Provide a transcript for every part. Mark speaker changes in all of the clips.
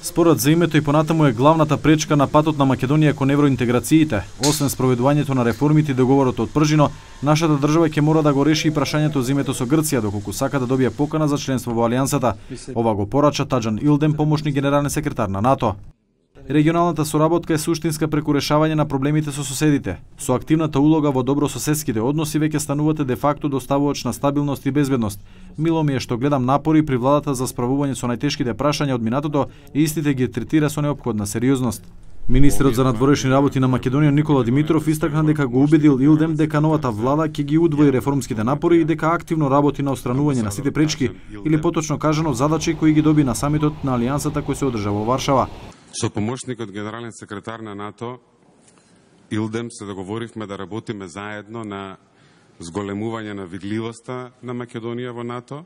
Speaker 1: Спорот за името и понатаму е главната пречка на патот на Македонија кон евроинтеграциите. Освен спроведувањето на реформите и договорот од Пржино, нашата држава ќе мора да го реши и прашањето за името со Грција, доколку сака да добие покана за членство во Алијансата. Ова го порача Таџан Илдем, помошник генерален секретар на НАТО. Регионалната соработка е суштинска преку решавање на проблемите со соседите. Со активната улога во добрососедските односи веќе станувате де факто доставувач на стабилност и безбедност. Мило ми е што гледам напори при владата за справување со најтешките прашања од минатото и истите ги третира со неопходна сериозност. Министерот за надворешни работи на Македонија Никола Димитров истакна дека го убедил Илдем дека новата влада ќе ги удвои реформските напори и дека активно работи на отстранување на сите пречки, или поточно кажано задачи кои ги доби на самитот на Алијансата кој се одржа во Варшава.
Speaker 2: Со помошникот генерален секретар на НАТО Илдем се договоривме да работиме заедно на зголемување на видливоста на Македонија во НАТО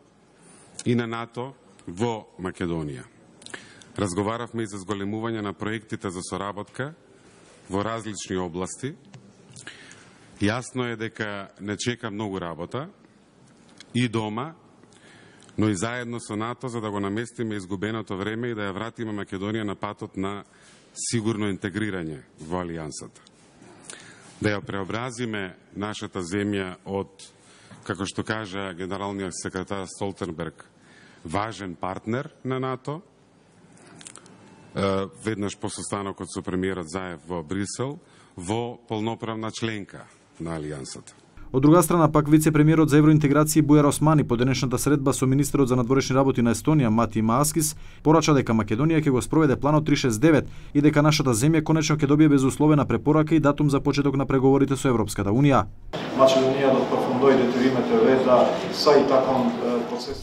Speaker 2: и на НАТО во Македонија. Разговаравме и за зголемување на проектите за соработка во различни области. Јасно е дека не чека многу работа и дома, но и заедно со НАТО за да го наместиме изгубеното време и да ја вратиме Македонија на патот на сигурно интегрирање во Алијансата. Да ја преобразиме нашата земја од, како што кажа генералниот секретар Столтенберг, важен партнер на НАТО, веднаш по состанокот со премиерот Заев во Брисел, во полноправна членка на Алијансата.
Speaker 1: Од друга страна пак вице-премиерот за евроинтеграција Бујар Османи по денешната средба со министерот за надворешни работи на Естонија Мати Мааскис порача дека Македонија ќе го спроведе планот 369 и дека нашата земја конечно ќе добие безусловена препорака и датум за почеток на преговорите со Европската унија.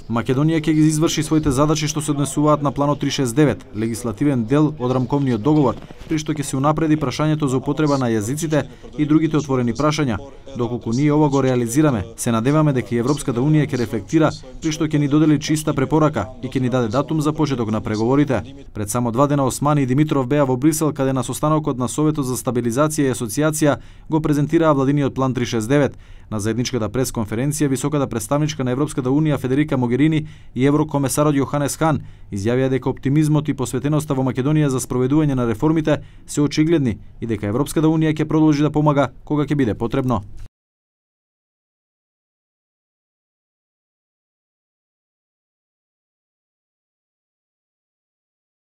Speaker 1: Македонија ќе ги изврши своите задачи што се однесуваат на планот 369, легислативен дел од рамковниот договор, при што ќе се унапреди прашањето за употреба на јазиците и другите отворени прашања. Доколку ние ова го реализираме, се надеваме дека и Европската унија ќе рефлектира, при што ќе ни додели чиста препорака и ќе ни даде датум за почеток на преговорите. Пред само 2 дена Османи и Димитров беа во Брисел, каде на состанокот на Советот за стабилизација и асоциација го презентираа владиниот план 369. На заедничката пресконференција високата представничка на Европската унија Федерика Могерини и еврокомесарот Јоханес Хан изјавија дека оптимизмот и посветеноста во Македонија за спроведување на реформите се очигледни и дека Европската унија ќе продолжи да помага кога ќе биде потребно.